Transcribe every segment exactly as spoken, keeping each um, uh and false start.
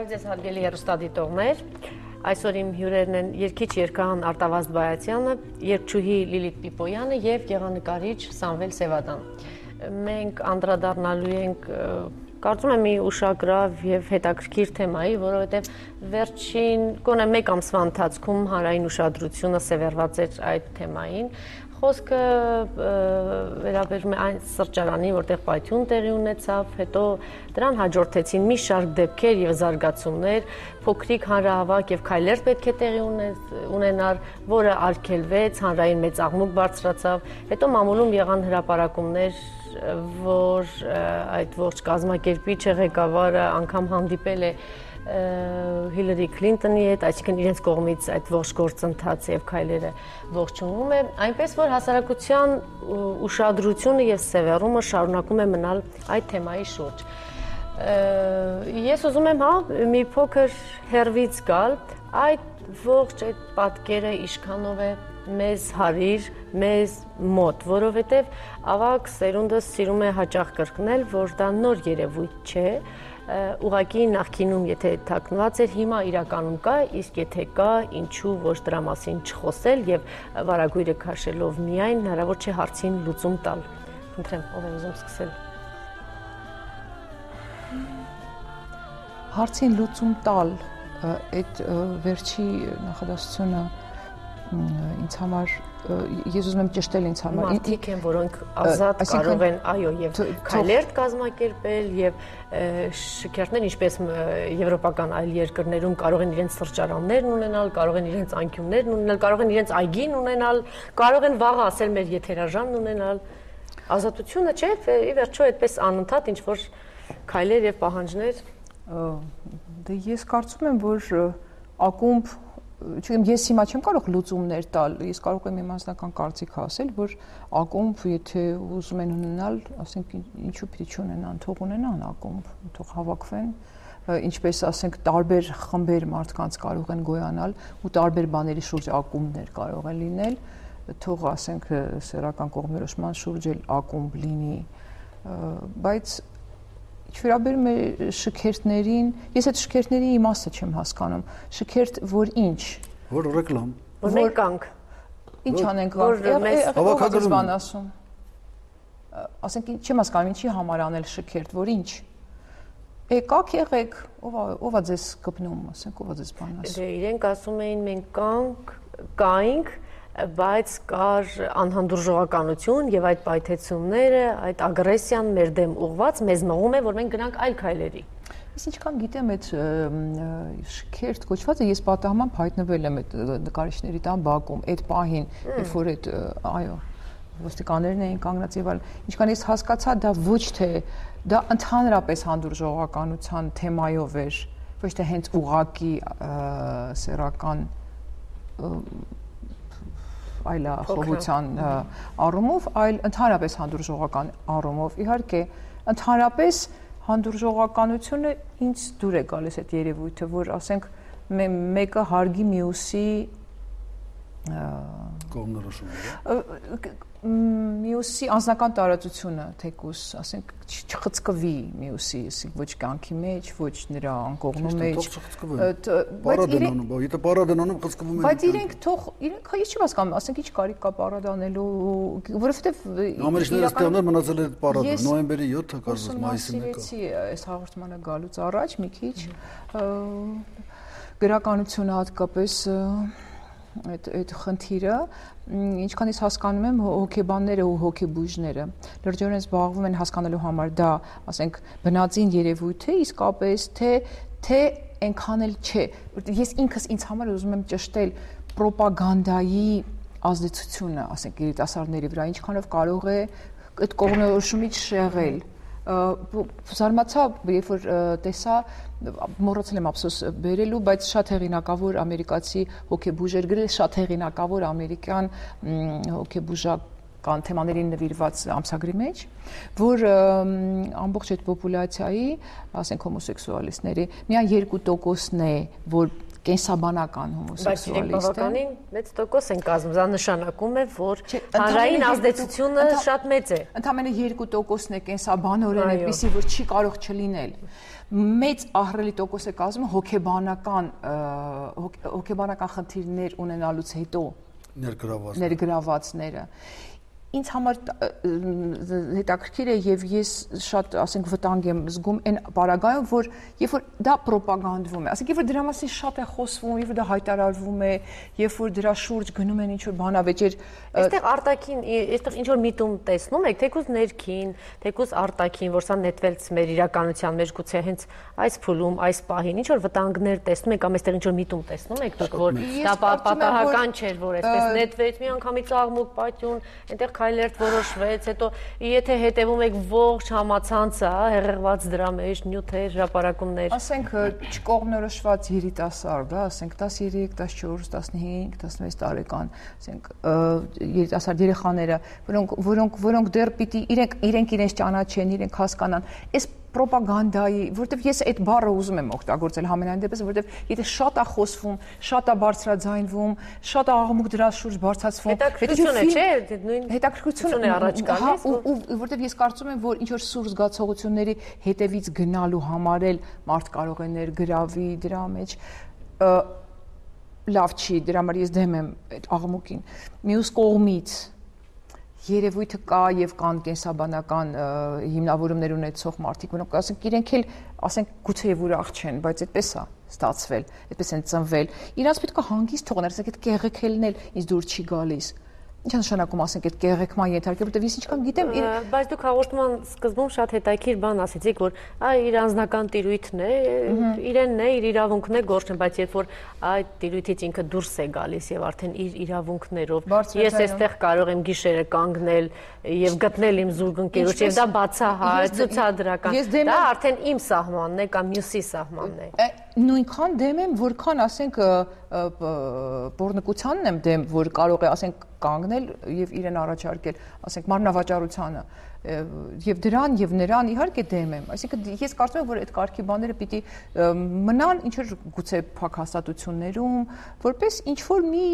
Բարև ձեզ հարգելի հեռուստադիտողներ, այսօր իմ հյուրերն են երգիչ երգահան Արտավազդ Բայացյանը, երգչուհի Լիլիթ Պիպոյանը և գեղանկարիչ Սամվել Սևադան։ Մենք անդրադառնալու ենք, կարծում եմ, մի ուշագրավ և հետաքրքիր թեմայի, որովհետև վերջին գոնե մեկ ամսվա ընթացքում հանրային ուշադրությունը սևեռված էր այդ թեմային։ Խոսքը վերաբերում է այն սրճարանի, որտեղ պայթյուն տեղի ունեցավ, հետո դրան հաջորդեցին մի շարք դեպքեր և զարգացումներ, փոքրիկ հանրահավաք և քայլեր պետք է տեղի ունենար, որը արգելվեց, հանրային մեծ աղմուկ բարձրացավ, հետո մամուլում եղան հրապարակումներ, որ այդ ողջ կազմակերպիչը, ղեկավարը անգամ հանդիպել է Հիլարի Քլինտոնի հետ, այսինքն իրենց կողմից այդ ողջ գործընթացը և քայլերը ողջունվում է, այնպես որ հասարակության ուշադրությունը և սևեռումը շարունակում է մնալ այդ թեմայի շուրջ։ Ես ուզում եմ, հա, մի փոքր հեռվից գալ, այդ ողջ այդ պատկերը ինչքանով է մեզ հարիր, մեզ մոտ, որովհետև ավագ սերունդը սիրում է հաճախ կրկնել, որ դա նոր երևույթ չէ, ուղղակի նախկինում եթե թաքնված էր, հիմա իրականում կա, իսկ եթե կա, ինչու ոչ դրա մասին չխոսել և վարագույրը քաշելով միայն հնարավոր չէ հարցին լուծում տալ։ Խնդրեմ, ով է ուզում սկսել։ Հարցին լուծում տալ, այդ վերջի նախադասությունը ինձ համար, ես ուզում եմ ճշտել ինձ համար։ Մարդիկ են, որոնք ազատ կարող են, այո, և քայլեր կազմակերպել և շքերթներ, ինչպես եվրոպական այլ երկրներում կարող են իրենց սրճարաններն ունենալ, կարող են իրենց անկյուններն ունենալ, կարող են իրենց այգին ունենալ, կարող են վաղը ասել մեր եթերաժամն ունենալ։ Ազատությունը չէ, ի վերջո այդպես անընդհատ ինչ-որ քայլեր և պահանջներ։ Դե ես կարծում եմ, որ ակումբ Չգիտեմ, ես հիմա չեմ կարող լուծումներ տալ, ես կարող եմ իմ անձնական կարծիք ասել, որ ակումբ, եթե ուզում են ունենալ, ասենք ինչու պիտի չունենան, թող ունենան ակումբ, թող հավաքվեն, ինչպես ասենք տարբեր խմբեր մարդկանց կարող են գոյանալ ու տարբեր բաների շուրջ ակումբներ կարող են լինել, թող ասենք սեռական կողմնորոշման շուրջ էլ ակումբ լինի, բայց ինչ վերաբերում է շքերթներին, ես այդ շքերթների իմաստը չեմ հասկանում, շքերթ, որ ինչ։ Որ ռեկլամ։ Որ մենք կանք։ Ինչ անենք կանք, ով է բան ասում։ Ասենք չեմ հասկանում, ինչի համար անել շքերթ, որ ինչ։ Եկաք եղեք, ով է ձեզ կպնում, ասենք, ով է ձեզ բան ասում։ Դե իրենք ասում էին մենք կանք, կայինք, բայց կար անհանդուրժողականություն և այդ պայթեցումները, այդ ագրեսիան մեր դեմ ուղղված մեզ մղում է, որ մենք գնանք այլ քայլերի։ Ես ինչքան գիտեմ այդ շքերթ կոչվածը, ես պատահման հայտնվել եմ այդ նկարիչների տան բակում, այդ պահին, երբ որ այդ, այո, ոստիկաններն էին կանգնած եւ այլ, ինչքան ես հասկացա, դա ոչ թե դա ընդհանրապես հանդուրժողականության թեմայով էր, ոչ թե հենց ուղղակի սեռական այլախոհության առումով, այլ ընդհանրապես հանդուրժողական առումով։ Իհարկե, ընդհանրապես հանդուրժողականությունը ինձ դուր է գալիս այդ երևույթը, որ ասենք մեկը հարգի մյուսի կողմնորոշումը, մյուսի անձնական տարածությունը, թեկուզ, ասենք չխցկվի մյուսի, ոչ կյանքի մեջ, ոչ նրա անկողնու մեջ։ Եթե պարադ են անում, խցկվում են։ Բայց իրենք թող, իրենք, ես չեմ հասկանում, ասենք ինչ կարիք կա պարադ անելու, որովհետև ամերիկացիները ստեղներ մնացել է պարադը, նոյեմբերի յոթը, կարծես մայիսի մեկը։ Ես այս հաղորդմանը գալուց առաջ մի քիչ գրականությունը հատկապես այդ այդ խնդիրը, ինչքան ես հասկանում եմ, հոգեբանները ու հոգեբույժները լրջորեն զբաղվում են հասկանալու համար դա, ասենք, բնածին երևույթ է, իսկապես թե թե այնքան էլ չէ։ Ես ինքս ինձ համար ուզում եմ ճշտել պրոպագանդայի ազդեցությունը, ասենք, երիտասարդների վրա, ինչքանով կարող է այդ կողմնորոշումից շեղել։ Զարմացա, երբ որ տեսա, մոռացել եմ ափսոս բերելու, բայց շատ հեղինակավոր ամերիկացի հոգեբույժ էր գրել, շատ հեղինակավոր ամերիկյան հոգեբուժական թեմաներին նվիրված ամսագրի մեջ, որ ամբողջ այդ պոպուլյացիայի, ասենք հոմոսեքսուալիստների, միայն երկու տոկոսն է, որ կենսաբանական հոմոսեքսուալիստ է։ Բայց բավականին մեծ տոկոս են կազմում, դա նշանակում է, որ հանրային ազդեցությունը շատ մեծ է։ Ընդամենը երկու տոկոսն է կենսաբանորեն այդպիսի, որ չի կարող չլինել։ Մեծ ահռելի տոկոս է կազմում հոգեբանական հոգեբանական խնդիրներ ունենալուց հետո ներգրավվածները։ Ինձ համար հետաքրքիր է եւ ես շատ, ասենք, վտանգ եմ զգում այն պարագայում, որ երբ որ դա ռոպագանդվում է, ասենք, երբ որ դրա մասին շատ է խոսվում, երբ որ դա հայտարարվում է, երբ որ դրա շուրջ գնում են ինչ-որ բանավեճեր, այստեղ արտաքին, այստեղ ինչ-որ միտում տեսնում եք, թեկուզ ներքին, թեկուզ արտաքին, որ սա նետվեց մեր իրականության մեջ, գուցե հենց այս փուլում, այս պահին, ինչ-որ վտանգներ տեսնում եք, կամ այստեղ ինչ-որ միտում տեսնում եք, դուք, որ դա պատահական չէր, որ այսպես նետվեց, մի անգամից աղմուկ, պատյուն, այնտեղ քայլերթ որոշվեց, հետո եթե հետևում եք ողջ համացանցը, հեղեղված դրա մեջ նյութեր, հրապարակումներ։ Ասենք չկողմնորոշված երիտասարդ, ասենք տասներեք, տասնչորս, տասնհինգ, տասնվեց տարեկան, ասենք երիտասարդ երեխաները, որոնք որոնք որոնք դեռ պիտի իրենք իրենք իրենց ճանաչեն, իրենք հասկանան, այս պրոպագանդայի, որտեվ ես այդ բառը ուզում եմ օգտագործել համենայն դեպս, որտեվ եթե շատ է խոսվում, շատ է բարձրաձայնվում, շատ է աղմուկ դրա շուրջ բարձրացվում, հետաքրքրություն է, չէ՞, նույն հետաքրքրություն է առաջ գալիս, ու որտեվ ես կարծում եմ, որ ինչ որ սուր զգացողությունների հետևից գնալու համար էլ մարդ կարող է ներգրավի դրա մեջ, լավ չի, դրա համար ես դեմ եմ այդ աղմուկին։ Մյուս կողմից երևույթը կա եւ կան կենսաբանական հիմնավորումներ ունեցող մարդիկ, որոնք ասենք իրենք էլ, ասենք, գուցեև ուրախ չեն, բայց այդպես է ստացվել, այդպես են ծնվել։ Իրանց պետք է հանգիստ թողնել, ասենք, այդ կեղեքելն էլ ինձ դուր չի գալիս։ Ինչ նշանակում, ասենք, այդ կեղեքման ենթարկել, որտեվ ես ինչքան գիտեմ, բայց դուք հաղորդման սկզբում շատ հետաքրքիր բան ասեցիք, որ այ իր անձնական տիրույթն է, իրենն է, իր իրավունքն է գործն, բայց երբ որ այդ տիրույթից ինքը դուրս է գալիս եւ արդեն իր իրավունքներով, ես այստեղ կարող եմ գիշերը կանգնել եւ գտնել իմ զուգընկերոջ եւ դա բացահայտ, ցուցադրական, դա արդեն իմ սահմանն է կամ մյուսի սահմանն է։ Նույնքան դեմ եմ, որքան, ասենք, պոռնկությանն եմ դեմ, որ կարող է, ասենք, կանգնել եւ իրեն առաջարկել, ասենք, մարմնավաճառությանը եւ դրան եւ նրան իհարկե դեմ եմ, այսինքն ես կարծում եմ, որ այդ կարգի բաները պիտի մնան ինչ որ գուցե փակ հաստատություններում, որպես ինչ որ մի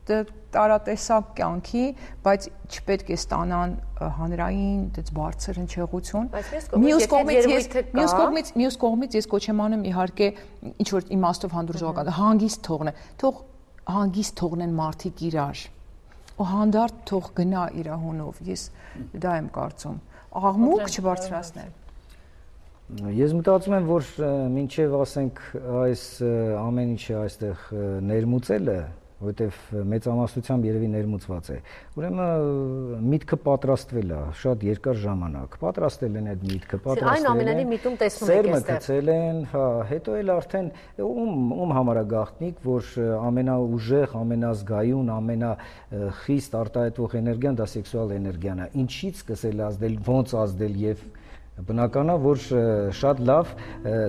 տարատեսակ կյանքի, բայց չպետք է ստանան հանրային դից բարձր հնչեղություն։ Մյուս կողմից ես մյուս կողմից մյուս կողմից ես կոչ եմ անում իհարկե ինչ որ իմաստով հանդուրժողական հանգիստ թողնեն, թող հանգիստ թողնեն մարդիկ իրար։ Ու հանդարտ թող գնա իր հունով, ես դա եմ կարծում, աղմուկ չբարձրացնել։ Ես մտածում եմ, որ մինչև, ասենք, այս ամեն ինչը այստեղ ներմուծելը, որտեվ մեծամասնությամբ երևի ներմուծված է, ուրեմն միտքը պատրաստվել է շատ երկար ժամանակ, պատրաստել են այդ միտքը, պատրաստել են, այն ամենանի միտում տեսնում եք այստեղ, սերմը գցել են, հա, հետո էլ արդեն ում ում համար է գաղտնիք, որ ամենաուժեղ, ամենազգայուն, ամենախիստ արտահայտվող էներգիան դա սեքսուալ էներգիան է, ինչից սկսել ազդել, ոնց ազդել եւ բնական է, որ շատ լավ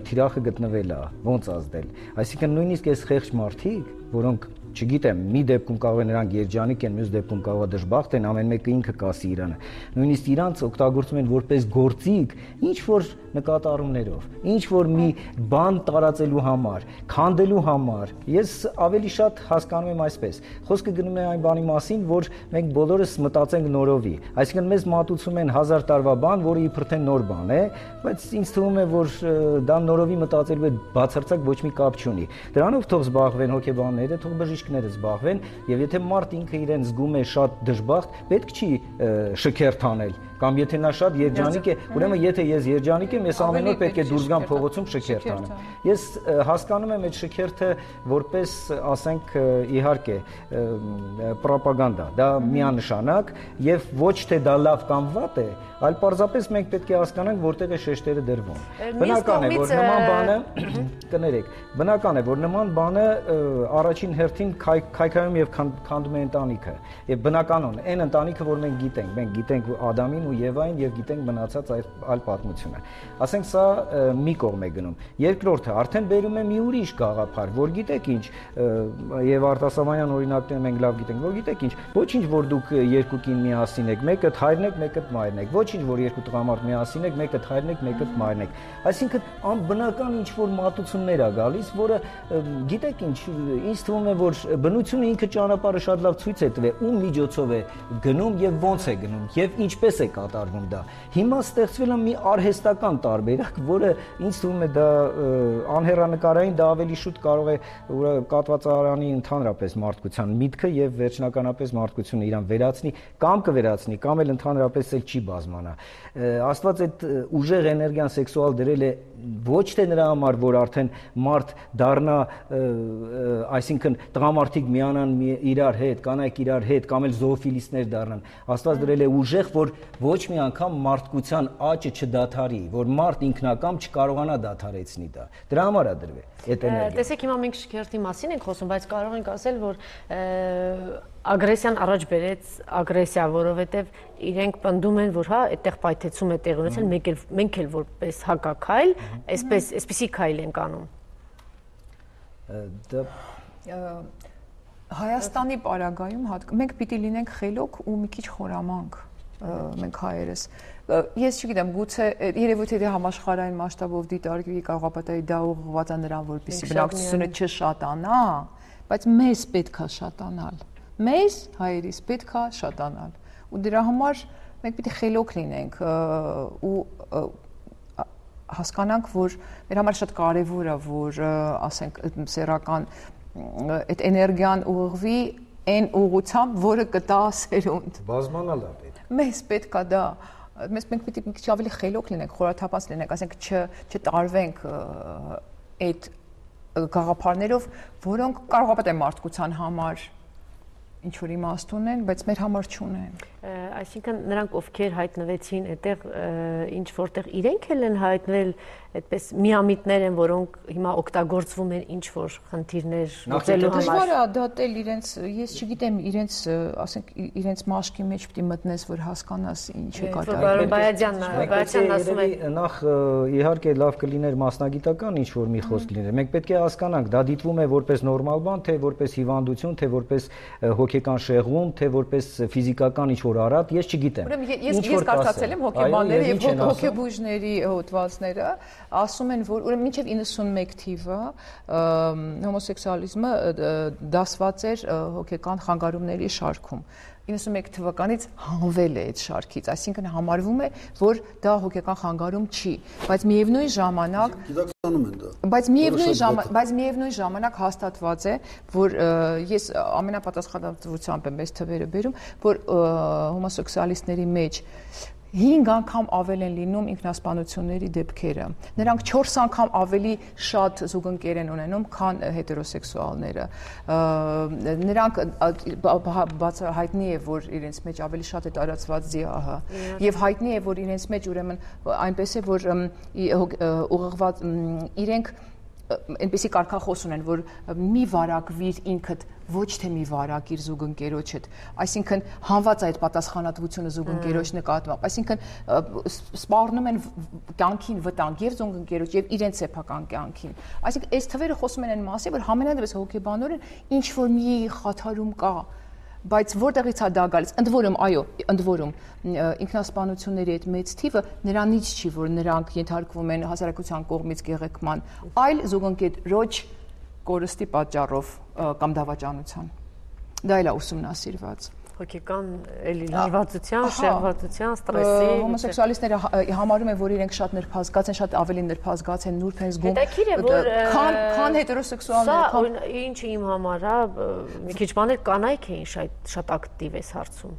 թիրախը գտնվել է, ոնց ազդել, այսինքն նույնիսկ այս խեղճ մարդիկ, որոնք չգիտեմ, մի դեպքում կարող է նրանք երջանիկ են, մյուս դեպքում կարող է դժբախտ են, ամեն մեկը ինքը կասի իրանը։ Նույնիսկ իրանց օգտագործում են որպես գործիք, ինչ որ նկատառումներով, ինչ որ մի բան տարածելու համար, քանդելու համար։ Ես ավելի շատ հասկանում եմ այսպես։ Խոսքը գնում է այն բանի մասին, որ մենք բոլորս մտածենք նորովի։ Այսինքն մեզ մատուցում են հազար տարվա բան, որը իբր թե նոր բան է, բայց ինձ թվում է, որ դա նորովի մտածելու հետ բացարձակ ոչ մի կապ չունի։ Դրանով թող զբաղվեն հոգեբանները, թող բժիշկները զբաղվեն, եւ եթե մարդ ինքը իրեն զգում է շատ դժբախտ, պետք չի շքերթ անել, կամ եթե նա շատ երջանիկ է, ուրեմն եթե ես երջանիկ եմ, ես ամեն օր պետք է դուրս գամ փողոցում շքերթ անեմ։ Ես հասկանում եմ այդ շքերթը որպես, ասենք, իհարկե, պրոպագանդա, դա միանշանակ եւ ոչ թե դա լավ կամ վատ է, այլ պարզապես մենք պետք է հասկանանք որտեղ է շեշտերը դրվում։ Բնական է, որ նման բանը կներեք, բնական է, որ նման բանը առաջին հերթին քայքայում եւ քանդում է ընտանիքը։ Եվ բնականon, այն ընտանիքը, որ մենք գիտենք, մենք գիտենք Ադամին ու ու Եվային եւ գիտենք մնացած այլ պատմությունը։ Ասենք սա մի կողմ է գնում։ Երկրորդը արդեն բերում է մի ուրիշ գաղափար, որ գիտեք ինչ, եւ արտասահմանյան օրինակները մենք լավ գիտենք, որ գիտեք ինչ, ոչինչ որ դուք երկու կին միասին եք, մեկը հայրն եք, մեկը մայրն եք, ոչինչ որ երկու տղամարդ միասին եք, մեկը հայրն եք, մեկը մայրն եք։ Այսինքն անբնական ինչ որ մատուցումներ է գալիս, որը գիտեք ինչ, ինձ թվում է որ բնությունը ինքը ճանապարհը շատ լավ ցույց է տվել, ում միջոցով է գնում եւ ոնց է գնում եւ ինչպես է կատարվում դա։ Հիմա ստեղծվել է մի արհեստական տարբերակ, որը ինձ թվում է դա անհեռանկարային, դա ավելի շուտ կարող է կատվածարանի ընդհանրապես մարդկության միտքը եւ վերջնականապես մարդկությունը իրան վերացնի, կամ կվերացնի, կամ էլ ընդհանրապես էլ չի բազմանա։ Աստված այդ ուժեղ էներգիան սեքսուալ դրել է ոչ թե նրա համար, որ արդեն մարդ դառնա, այսինքն տղամարդիկ միանան իրար հետ, կանայք իրար հետ, կամ էլ զոոֆիլիստներ դառնան։ Աստված դրել է ուժեղ, որ ոչ մի անգամ մարդկության աճը չդադարի, որ մարդ ինքնակամ չկարողանա դադարեցնի դա։ Դրա համար է դրվել այդ էներգիան։ Տեսեք, հիմա մենք շքերթի մասին ենք խոսում, բայց կարող ենք ասել, որ ագրեսիան առաջ բերեց ագրեսիա, որովհետև իրենք պնդում են, որ հա, այդտեղ պայթեցում է տեղի ունեցել, մենք էլ մենք էլ որպես հակաքայլ, այսպես այսպեսի քայլ ենք անում։ Դա Հայաստանի պարագայում մենք պիտի լինենք խելոք ու մի քիչ խորամանկ մենք հայերս։ Ես չգիտեմ, գուցե երևույթ է համաշխարհային մասշտաբով դիտարկվի կարողապատայի դա ուղղված է նրան, որպեսզի բնակչությունը չշատանա, բայց մեզ պետք է շատանալ։ Մեզ հայերիս պետք է շատանալ։ Ու դրա համար մենք պիտի խելոք լինենք ու հասկանանք, որ մեր համար շատ կարևոր է, որ ասենք սեռական այդ էներգիան ուղղվի այն ուղղությամբ, որը կտա սերունդ։ Բազմանալ է պետք։ Մեզ պետք է դա, մեզ մենք պիտի մի քիչ ավելի խելոք լինենք, խորաթափանց լինենք, ասենք չտարվենք այդ գաղափարներով, որոնք կարողապատ են մարդկության համար ինչ որ իմաստ ունեն, բայց մեր համար չունեն։ Այսինքն նրանք ովքեր հայտնվեցին այդտեղ ինչ որտեղ իրենք էլ են հայտնվել այդպես միամիտներ են, որոնք հիմա օգտագործվում են ինչ որ խնդիրներ լուծելու համար։ Դժվար է դատել իրենց, ես չգիտեմ, իրենց, ասենք, իրենց մաշկի մեջ պիտի մտնես, որ հասկանաս ինչ է կատարվում։ Պարոն Բայազյանն, Բայազյանն ասում է, նախ իհարկե լավ կլիներ մասնագիտական ինչ որ մի խոսք լիներ։ Մենք պետք է հասկանանք, դա դիտվում է որպես նորմալ բան, թե որպես հիվանդություն, թե որպես հոգեկան շեղում, թե որպես ֆիզիկական ինչ որ արատ, ես չգիտեմ։ Ուրեմն ես ես կարծացել եմ հոգեբանների եւ հոգեբույժների հոդվածները, ասում են, որ ուրեմն մինչև իննսունմեկ թիվը հոմոսեքսուալիզմը դասված էր հոգեկան խանգարումների շարքում։ իննսունմեկ թվականից հանվել է այդ շարքից, այսինքն համարվում է, որ դա հոգեկան խանգարում չի, բայց միևնույն ժամանակ գիտակցանում են դա։ Բայց միևնույն ժամանակ, բայց միևնույն ժամանակ հաստատված է, որ ես ամենապատասխանատվությամբ եմ այս թվերը բերում, որ հոմոսեքսուալիստների մեջ հինգ անգամ ավել են լինում ինքնասպանությունների դեպքերը։ Նրանք չորս անգամ ավելի շատ զուգընկեր են ունենում, քան հետերոսեքսուալները։ Նրանք բաց հայտնի է, որ իրենց մեջ ավելի շատ է տարածված ԶԻԱՀ-ը, եւ հայտնի է, որ իրենց մեջ ուրեմն այնպես է, որ ուղղված իրենք այնպեսի կարգախոս ունեն, որ մի վարակվիր ինքդ, ոչ թե մի վարակ իր զուգընկերոջդ, այսինքն հանված այդ պատասխանատվությունը զուգընկերոջ նկատմամբ, այսինքն սպառնում են կյանքին վտանգ եւ զուգընկերոջ եւ իրենց սեփական կյանքին։ Այսինքն այս թվերը խոսում են այն մասի, որ համենայնդեպս հոգեբանորեն ինչ որ մի խաթարում կա, բայց որտեղից է դա գալիս։ Ընդ որում, այո, ընդ որում ինքնասպանությունների այդ մեծ թիվը նրանից չի, որ նրանք ենթարկվում են հասարակության կողմից գեղեցման, այլ զուգընկերոջ կորստի պատճառով կամ դավաճանության։ Դա էլ է ուսումնասիրված։ Հոգեկան էլի լարվածության, շեղվածության, ստրեսի։ Հոմոսեքսուալիստները համարում են, որ իրենք շատ նրբազգաց են, շատ ավելի նրբազգաց են, նուրբ են զգում։ Հետաքրքիր է, որ քան քան հետերոսեքսուալները։ Սա ինչը իմ համար է, մի քիչ բաներ կանայք էին շատ շատ ակտիվ այս հարցում։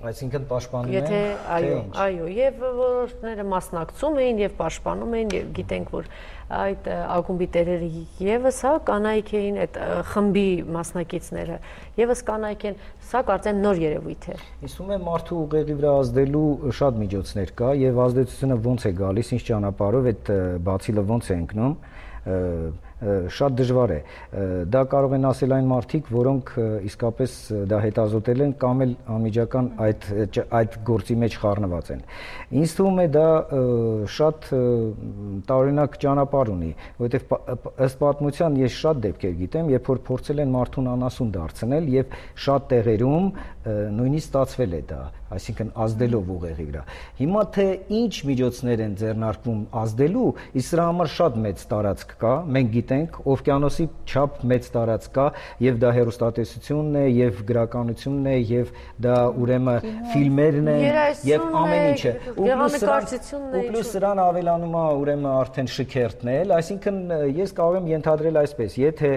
Այսինքն պաշտպանում են։ Եթե այո, այո, եւ որոշները մասնակցում էին եւ պաշտպանում էին եւ գիտենք, որ այդ ակումբի տերերը եւս հա կանայք էին, այդ խմբի մասնակիցները եւս կանայք են, սա կարծեմ նոր երևույթ է։ Իսկ ում է մարդու ուղեղի վրա ազդելու շատ միջոցներ կա եւ ազդեցությունը ոնց է գալիս, ինչ ճանապարհով այդ բացիլը ոնց է ընկնում։ շատ դժվար է։ Դա կարող են ասել այն մարդիկ, որոնք իսկապես դա հետազոտել են կամ էլ անմիջական այդ այդ գործի մեջ խառնված են։ Ինձ թվում է դա շատ տարօրինակ ճանապարհ ունի, որովհետև ըստ պատմության ես շատ դեպքեր գիտեմ, երբ որ փորձել են մարդուն անասուն դարձնել եւ շատ տեղերում նույնիսկ ստացվել է դա, այսինքն ազդելով ուղեղի վրա։ Հիմա թե ինչ միջոցներ են ձեռնարկվում ազդելու, իսկ սրա համար շատ մեծ տարածք կա, մենք գիտենք, օվկիանոսի չափ մեծ տարածք կա, եւ դա հեռուստատեսությունն է, եւ գրականությունն է, եւ դա ուրեմն ֆիլմերն են, եւ ամեն ինչը։ Ու պլյուս սրան ավելանում է ուրեմն արդեն շքերթն էլ, այսինքն ես կարող եմ ենթադրել այսպես, եթե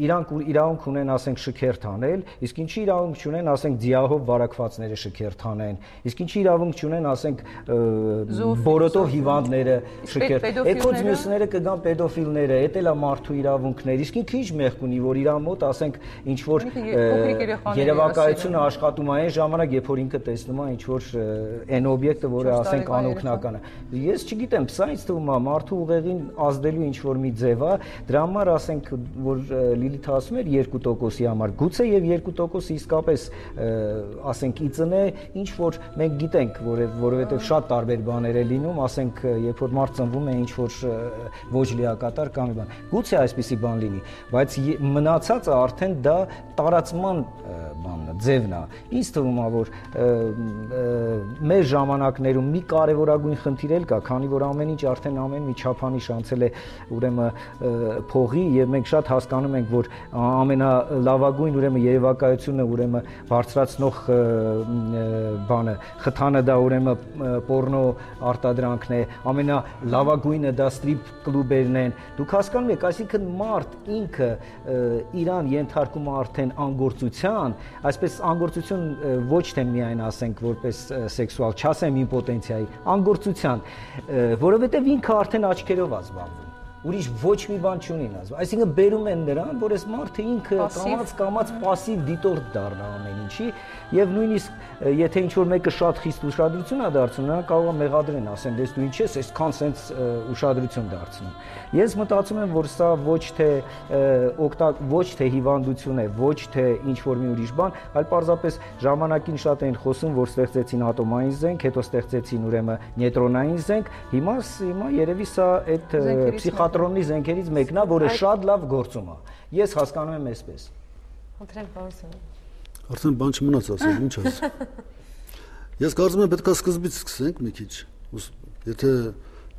իրանք իրավունք ունեն, ասենք, շքերթ անել, իսկ ինչի իրավունք չունեն, ասենք, ձիահով վարակվածները շքերթ անեն, իսկ ինչի իրավունք չունեն, ասենք, բորոտով հիվանդները շքերթ։ Էքոց մյուսները կգան պետոֆիլները, էդ էլ է մարդու իրավունքներ, իսկ ինքը ինչ մեղք ունի, որ իր մոտ, ասենք, ինչ որ երևակայությունը աշխատում է այն ժամանակ, երբ որ ինքը տեսնում է ինչ որ այն օբյեկտը, որը, ասենք, անօգնական է։ Ես չգիտեմ, սա ինձ թվում է մարդու ուղեղին ազդելու ինչ որ մի ձև է, դրա համար, ասենք, որ Լիլիթը ասում էր երկու տոկոսի համար, գուցե եւ երկու տոկոսը իսկապես, ասենք, ի ծնե ինչ որ մենք գիտենք, որովհետեւ շատ տարբեր բաներ է լինում, ասենք, երբ որ մարդ ծնվում է ինչ որ ոչ լիակատար կամ մի բան։ Գուցե այսպիսի բան լինի, բայց մնացածը արդեն դա տարածման բանն է, ձևն է։ Ինձ թվում է, որ մեր ժամանակներում մի կարևորագույն խնդիր էլ կա, քանի որ ամեն ինչ արդեն ամեն մի չափանիշ անցել է ուրեմն փողի եւ մենք շատ հասկանում ենք, որ ամենալավագույն ուրեմն երևակայությունը ուրեմն բարձրացնող բանը խթանը դա ուրեմն պոռնո արտադրանքն է, ամենալավագույնը դա ստրիփ կլուբերն են։ Դուք հասկանում եք, այսինքն մարդ ինքը իրան ենթարկում է արդեն անգործության, այսպես անգործություն ոչ թե միայն ասենք որպես սեքսուալ, չասեմ իմպոտենցիայի, անգործության, որովհետև ինքը արդեն աչքերով է զբաղվում։ Ուրիշ ոչ մի բան չունի նա։ Այսինքն բերում են նրան, որ այս մարդը ինքը կամած կամած пассив դիտորդ դառնա ամեն ինչի եւ նույնիսկ եթե ինչ որ մեկը շատ խիստ ուշադրություն է դարձնում, նրան կարող է մեղադրեն, ասեն, դες դու ինչ ես, այսքան sense ուշադրություն դարձնում։ Ես մտածում եմ, որ սա ոչ թե օգտակ ոչ թե հիվանդություն է, ոչ թե ինչ որ մի ուրիշ բան, այլ պարզապես ժամանակին շատ են խոսում, որ ստեղծեցին ատոմային զենք, հետո ստեղծեցին ուրեմն նեյտրոնային զենք, հիմա հիմա երևի սա այդ փսիխատրոնի զենքերից մեկն է, որը շատ լավ գործում է։ Ես հասկանում եմ այսպես։ Խնդրեմ, պարոն։ Արդեն բան չմնաց ասել, ինչ ասել։ Ես կարծում եմ պետք է սկզբից սկսենք մի քիչ։ Եթե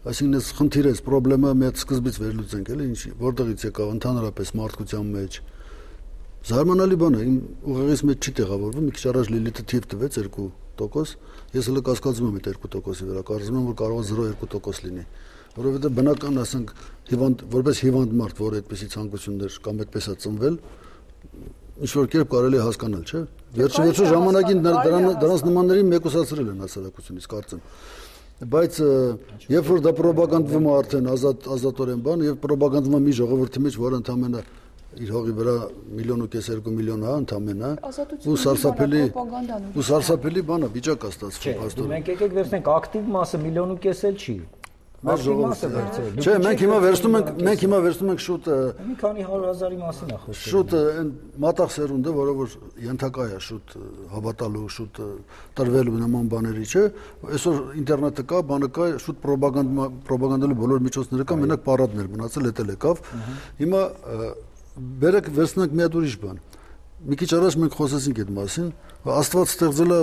այսինքն այս խնդիրը, այս խնդրեմը մեծ սկզբից վերլուծենք, էլի ինչ որտեղից եկավ ընդհանրապես մարդկության մեջ։ Զարմանալի բան է, իմ ուղեղից մեջ չի տեղավորվում, մի քիչ առաջ Լիլիթը թիվ տվեց երկու տոկոս, ես հələ կասկածում եմ այդ երկու տոկոսի վրա, կարծում եմ որ կարող է զրո երկու տոկոս լինի, որովհետև բնական, ասենք, հիվանդ, որպես հիվանդ մարդ, որ այդպիսի ցանկություններ կամ այդպես է ծնվել, ինչ որ կերպ կարելի է հասկանալ, չէ՞։ Վերջի վերջո ժամանակին դրանց նմանների մեկուսացրել են հասարակությունից, կարծեմ։ Բայց երբ որ դա ռոպագանդվում է արդեն ազատ ազատորեն բան եւ ռոպագանդվում է մի ժողովրդի մեջ, որը ընդամենը իր հողի վրա միլիոն ու կես երկու միլիոն է ընդամենը ու սարսափելի ու սարսափելի բանը վիճակ է ստացվում հաստատ։ Մենք եկեք վերցնենք ակտիվ մասը միլիոն ու կես էլ չի։ Չէ, մենք հիմա վերցնում ենք, մենք հիմա վերցնում ենք շուտ մի քանի հարյուր հազարի մասին է խոսքը։ Շուտ այն մատաղ սերունդը, որը որ ենթակա է շուտ հավատալու, շուտ տրվելու նման բաների, չէ։ Այսօր ինտերնետը կա, բանը կա, շուտ ռոպագանդա ռոպագանդելու բոլոր միջոցները կա, մենակ պարադներ մնացել, էտել եկավ։ Հիմա բերեք վերցնենք մի հատ ուրիշ բան։ Մի քիչ առաջ մենք խոսեցինք այդ մասին, Աստված ստեղծել է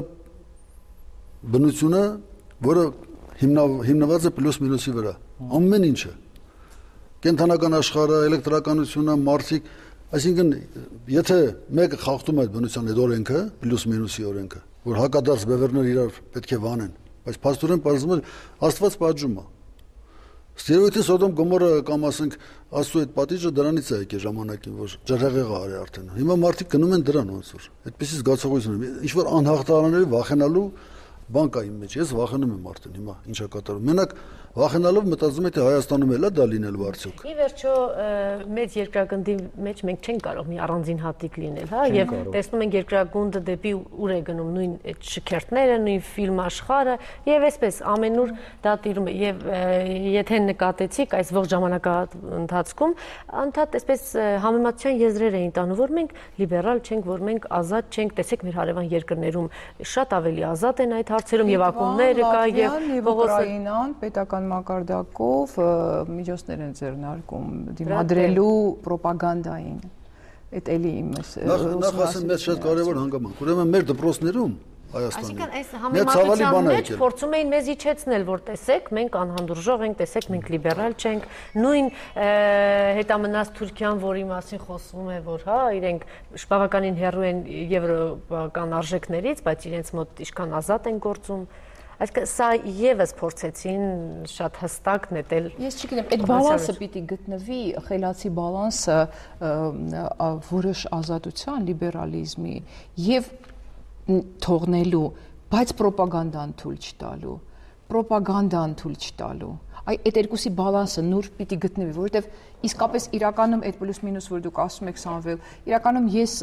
բնությունը, որը հիմնված է պլյուս մինուսի վրա, ամեն ինչը, կենթանական աշխարհը, էլեկտրականությունը, մարդիկ, այսինքն եթե մեկը խախտում է այդ բնության այդ օրենքը, պլյուս մինուսի օրենքը, որ հակադարձ բևեռները իրար պետք է վանեն, բայց փաստորեն պարզվում է Աստված պատժում է։ Ստերոյդի Սոդոմ Գոմորը կամ ասենք Աստծո այդ պատիժը դրանից է եկել ժամանակին, որ ջրհեղեղը արի արդեն։ Հիմա մարդիկ գնում են դրան ոնց որ։ Այդպեսի զգացողություն, ինչ որ անհաղթահարների վախենալու բան կա իմ մեջ, ես վախենում եմ արդեն հիմա ինչա կատարում։ Մենակ վախենալով մտածում է թե Հայաստանում էլ է դա լինելու արդյոք։ Ի վերջո մեծ երկրագնդի մեջ մենք չենք կարող մի առանձին հատիկ լինել, հա, եւ տեսնում ենք երկրագունդը դեպի ուր է գնում, նույն այդ շքերթները, նույն ֆիլմ աշխարհը եւ այսպես ամենուր դա տիրում է եւ եթե նկատեցիք այս ողջ ժամանակահատվածում անդադ այսպես համեմատության եզրեր էին տանում, որ մենք լիբերալ չենք, որ մենք ազատ չենք, տեսեք մեր հարևան երկրներում շատ ավելի ազատ են այդ հարցերում եւ ակումբները կա եւ Ուկրաինան պետական մակարդակով միջոցներ են ձեռնարկում դիմադրելու ռոպագանդային։ Այդ էլի իմ նախ ասեմ մեծ շատ կարևոր հանգամանք։ Ուրեմն մեր դպրոցներում Հայաստանում։ Այսինքն այս համեմատության մեջ փորձում էին մեզ իջեցնել, որ տեսեք, մենք անհանդուրժող ենք, տեսեք, մենք լիբերալ չենք։ Նույն հետամնաց Թուրքիան, որի մասին խոսվում է, որ հա, իրենք բավականին հեռու են եվրոպական արժեքներից, բայց իրենց մոտ ինչքան ազատ են գործում։ Այսինքն սա եւս փորձեցին շատ հստակ նետել։ Ես չգիտեմ, այդ բալանսը պիտի գտնվի, խելացի բալանսը որոշ ազատության, լիբերալիզմի եւ թողնելու, բայց ռոպագանդան թույլ չտալու, ռոպագանդան թույլ չտալու։ Այ այդ երկուսի բալանսը նոր պիտի գտնվի, որովհետև իսկապես իրականում այդ պլյուս մինուս որ դուք ասում եք Սամվել, իրականում ես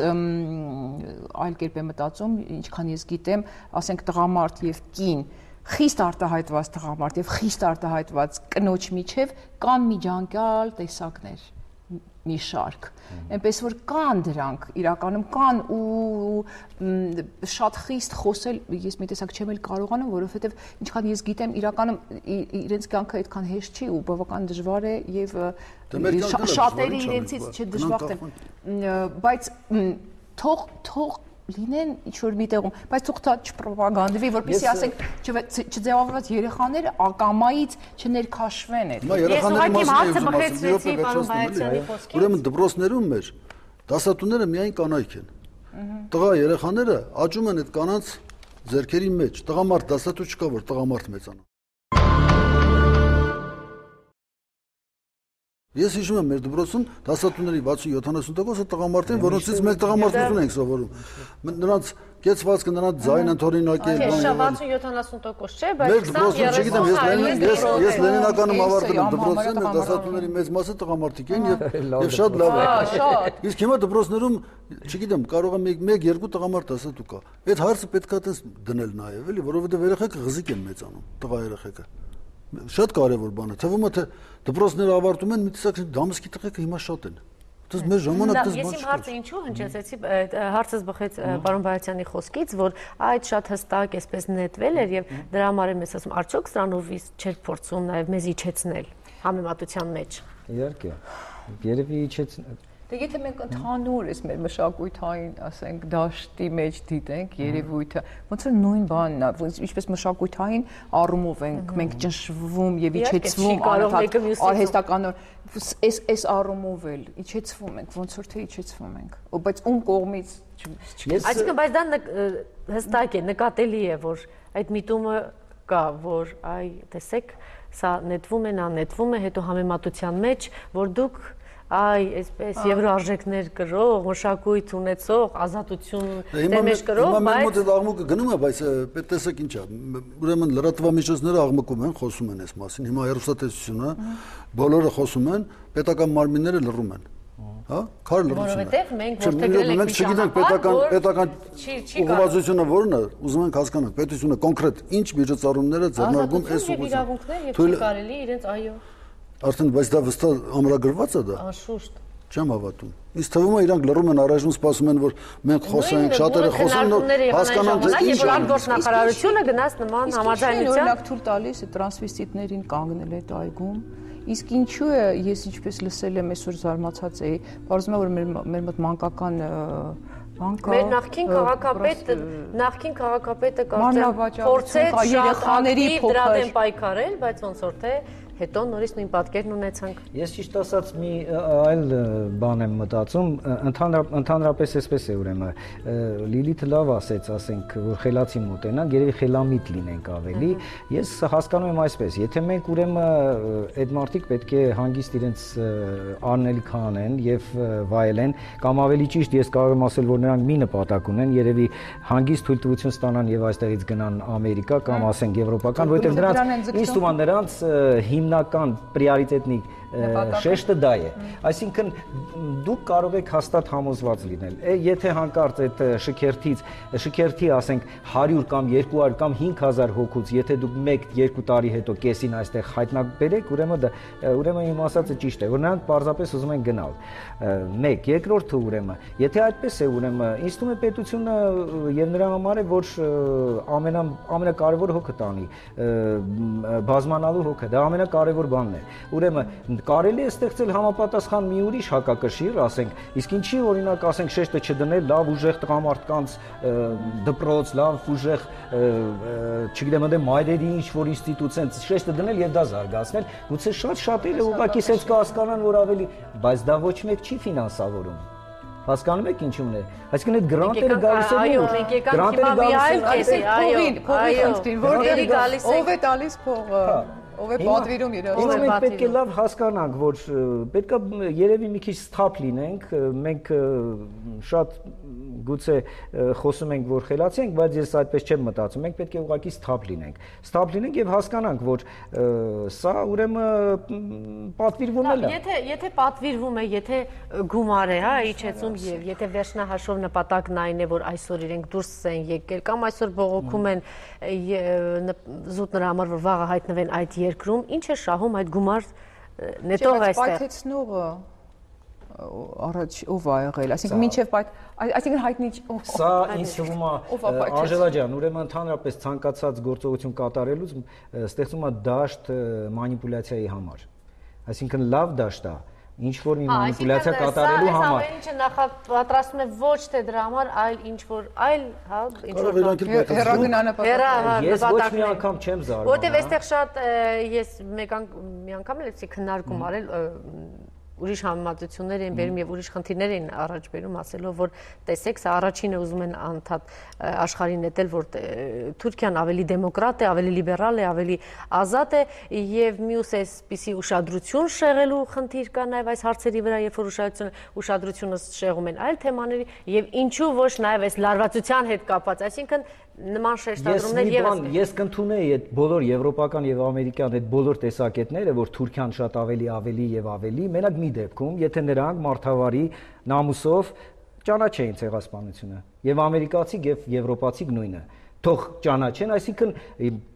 այլ կերպ եմ մտածում, ինչքան ես գիտեմ, ասենք տղամարդ եւ կին, խիստ արտահայտված տղամարդ եւ խիստ արտահայտված կնոջ միջև կան միջանկյալ տեսակներ մի շարք, այնպես որ կան դրանք, իրականում կան ու շատ խիստ խոսել, ես մի տեսակ չեմ էլ կարողանում, որովհետև ինչքան ես գիտեմ, իրականում իրենց կյանքը այդքան հեշտ չի ու բավական դժվար է եւ շատերը իրենցից չդժբախտ են, բայց թող թող լինեն ինչ-որ մի տեղում, բայց թող դա չպրոպագանդվի, որպեսզի ասենք չձևավորված երեխաները ակամայից չներքաշվեն այդ։ Ես ուղղակի հարցը բխեցրեցի պարոն Բայացյանի խոսքից։ Ուրեմն դպրոցներում մեր դասատուները միայն կանայք են։ Տղա երեխաները աճում են այդ կանանց ձեռքերի մեջ։ Տղամարդ դասատու չկա, որ տղամարդ մեծանա։ Ես հիշում եմ մեր դպրոցում դասատուների վաթսուն յոթանասուն տոկոսը տղամարդ են, որոնցից մենք տղամարդություն ենք սովորում։ Նրանց կեցվածքը, նրանց ձայնը թորինակել, վաթսուն յոթանասուն տոկոս չէ, բայց ես Լենինականում ավարտել եմ դպրոցը, մեր դասատուների մեծ մասը տղամարդիկ են եւ շատ լավ է։ Իսկ հիմա դպրոցներում, չգիտեմ, կարող է մեկ երկու տղամարդ դասատու կա։ Այդ հարցը պետք է տես դնել նաեւ, էլի, որովհետեւ երեխեքը ղզիկ են մեծանում, տղա երեխեքը։ Շատ կարևոր բան է։ Թվում է թե դպրոցները ավարտում են, մի տեսակ դամսկի տղեկը հիմա շատ են։ Դες մեր ժամանակից բան։ Ես իմ հարցը ինչու հնչեցեցի, հարցս բխեց պարոն Բայացյանի խոսքից, որ այդ շատ հստակ էսպես նետվել էր եւ դրա համար եմ ես ասում, արդյոք սրանով չէր փորձում նաեւ մեզ իջեցնել համեմատության մեջ։ Իհարկե։ Երևի իջեցնել Դե եթե մենք ընդհանուր ես մեր մշակույթային, ասենք, դաշտի մեջ դիտենք երևույթը, ոնց որ նույն բանն է, ինչպես մշակույթային առումով ենք մենք ճնշվում եւ իջեցվում արհեստականորեն, այս այս առումով էլ իջեցվում ենք, ոնց որ թե իջեցվում ենք, բայց ում կողմից Այսինքն, բայց դա հստակ է, նկատելի է, որ այդ միտումը կա, որ այ տեսեք, սա նետվում է, նա նետվում է, հետո համեմատության մեջ, որ դուք Այ, այսպես եվրոարժեքներ կրող, մշակույթ ունեցող, ազատություն դեմեջ կրող, բայց Հիմա մեր մոտ աղմուկը գնում է, բայց տեսեք ինչ է, ուրեմն լրատվամիջոցները աղմկում են, խոսում են այս մասին, հիմա հեռուստատեսությունը, բոլորը խոսում են, պետական մարմինները լռում են, հա, քար լռություն է։ Որովհետև մենք որտեղ մենք չգիտենք պետական պետական ուղղվածությունը որն է, ուզում ենք հասկանանք, պետությունը կոնկրետ ինչ միջոցառումները ձեռնարկում այս ուղղությամբ։ Եվ կարելի իրենց այո Արդեն բայց դա վստահ ամրագրված է դա։ Անշուշտ։ Չեմ հավատում։ Ինձ թվում է իրանք լռում են, առայժմ սպասում են, որ մենք խոսենք, շատերը խոսեն, հասկանան թե ինչ է։ Որ գործնախարարությունը գնաց նման համաձայնության։ Օրինակ թույլ տալիս է տրանսվեստիտներին կանգնել այդ այգում։ Իսկ ինչու է, ես ինչպես լսել եմ, այսօր զարմացած էի, բարձում է որ մեր մեր մոտ մանկական Մեր նախքին քաղաքապետը, նախքին քաղաքապետը կարծեմ փորձեց երեխաների դրա դեմ պայքարել, բայց ոնց որ թե հետո նորից նույն պատկերն ունեցանք։ Ես ճիշտ ասած մի այլ բան եմ մտածում, ընդհանրապես էսպես է ուրեմն Լիլիթը լավ ասեց, ասենք, որ խելացի մոտենանք, երևի խելամիտ լինենք ավելի։ Ես հասկանում եմ այսպես, եթե մենք ուրեմն այդ մարդիկ պետք է հանգիստ իրենց անելիք անեն եւ վայելեն, կամ ավելի ճիշտ ես կարող եմ ասել, որ նրանք մի նպատակ ունեն, երևի հանգիստ թույլտվություն ստանան եւ այստեղից գնան Ամերիկա կամ ասենք եվրոպական, որովհետեւ նրանց ինձ թվում է նրանց հիմնական պրիորիտետնի շեշտը դա է։ Այսինքն դուք կարող եք հաստատ համոզված լինել։ Եթե հանկարծ այդ շքերթից, շքերթի ասենք հարյուր կամ երկու հարյուր կամ հինգ հազար հոգուց, եթե դուք մեկ երկու տարի հետո կեսին այստեղ հայտնաբերեք, ուրեմն դա ուրեմն իմ ասածը ճիշտ է, որ նրանք պարզապես ուզում են գնալ։ Մեկ, երկրորդը ուրեմն, եթե այդպես է, ուրեմն ինձ թվում է պետությունը եւ նրա համար է, որ ամենա ամենակարևոր հոգը տանի, բազմանալու հոգը, դա ամենակարևոր բանն է։ Ուրեմն կարելի է ստեղծել համապատասխան մի ուրիշ հակակշիռ, ասենք, իսկ ինչի օրինակ ասենք շեշտը չդնել լավ ուժեղ տղամարդկանց դպրոց, լավ ուժեղ, չգիտեմ, այնտեղ մայրերի ինչ որ ինստիտուցիան շեշտը դնել եւ դա զարգացնել, գուցե շատ շատերը ուղղակի sense կհասկանան, որ ավելի, բայց դա ոչ մեկ չի ֆինանսավորում։ Հասկանում եք ինչու՞մն է։ Այսինքն այդ գրանտերը գալիս են այո, մենք եկանք հիմա մի այլ կեսի, այո, այո, ով է տալիս փողը։ Ով է պատվիրում իրար։ Ով է պետք է լավ հասկանանք, որ պետք է երևի մի քիչ սթափ լինենք, մենք շատ գուցե խոսում ենք, որ խելացի ենք, բայց ես այդպես չեմ մտածում, մենք պետք է ուղղակի սթափ լինենք։ Սթափ լինենք եւ հասկանանք, որ սա ուրեմն պատվիրվում է լավ։ Եթե եթե պատվիրվում է, եթե գումար է, հա, իջեցում եւ եթե վերջնահաշվով նպատակն այն է, որ այսօր իրենք դուրս են եկել կամ այսօր բողոքում են զուտ նրա համար, որ վաղը հայտնվեն այդ երկրում, ինչ է շահում այդ գումար նետող այստեղ։ Պայթեցնողը առաջ ով ա եղել, այսինքն մինչև այսինքն հայտնի սա ինձ թվում է Անժելա ջան, ուրեմն ընդհանրապես ցանկացած գործողություն կատարելուց ստեղծում է դաշտ մանիպուլյացիայի համար, այսինքն լավ դաշտ է ինչ որ մի մանիպուլյացիա կատարելու համար։ Այս ինչը նախապատրաստում է ոչ թե դրա համար, այլ ինչ որ այլ, հա, ինչ որ հեռագնանապատակ։ Ես ոչ մի անգամ չեմ զարմանում։ Որտեվ այստեղ շատ ես մեկ մի անգամ էլ էսի քննարկում արել ուրիշ համեմատություններ են բերում եւ ուրիշ խնդիրներ են առաջ բերում, ասելով որ տեսեք, սա առաջինը ուզում են անդադ աշխարհին նետել, որ Թուրքիան ավելի դեմոկրատ է, ավելի լիբերալ է, ավելի ազատ է եւ մյուս էսպիսի ուշադրություն շեղելու խնդիր կա նաեւ այս հարցերի վրա, երբ որ ուշադրությունը ուշադրությունը շեղում են այլ թեմաների եւ ինչու ոչ նաեւ այս լարվածության հետ կապված, այսինքն նման շեշտադրումներ եւս ես կընդունեի այդ բոլոր եվրոպական եւ ամերիկյան այդ բոլոր տեսակետները, որ Թուրքիան շատ ավելի ավելի եւ ավելի, մենակ մի դեպքում, եթե նրանք մարդավարի նամուսով ճանաչեին ցեղասպանությունը եւ ամերիկացի եւ եվրոպացի նույնը թող ճանաչեն, այսինքն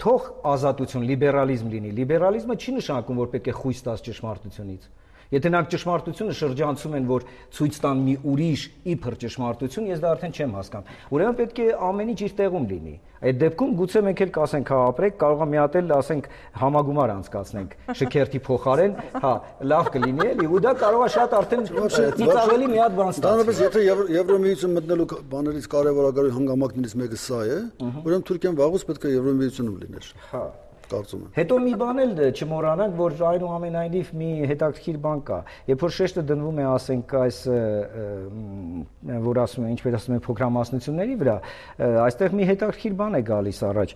թող ազատություն, լիբերալիզմ լինի։ Լիբերալիզմը չի նշանակում, որ պետք է խույս տաս ճշմարտությունից։ Եթե նրանք ճշմարտությունը շրջանցում են, որ ցույց տան մի ուրիշ իբր ճշմարտություն, ես դա արդեն չեմ հասկանում։ Ուրեմն պետք է ամեն ինչ իր տեղում լինի։ Այդ դեպքում գուցե մենք էլ կասենք, հա, ապրեք, կարող է մի հատ էլ ասենք համագումար անցկացնենք շքերթի փոխարեն, հա, լավ կլինի էլի, ու դա կարող է շատ արդեն ծիծաղելի մի հատ բան ստացվի։ Դրանից եթե Եվրոմիություն մտնելու բաներից կարևորագույն հանգամանքներից մեկը սա է, ուրեմն Թուրքիան վաղուց պետք է Եվրոմիությունում լիներ։ Հա։ Հետո մի բան էլ չմոռանանք, որ այնուամենայնիվ մի հետաքրքիր բան կա։ Երբ որ շեշտը դնվում է, ասենք, այս որ ասում են, ինչպես ասում են, փոքրամասնությունների վրա, այստեղ մի հետաքրքիր բան է գալիս առաջ։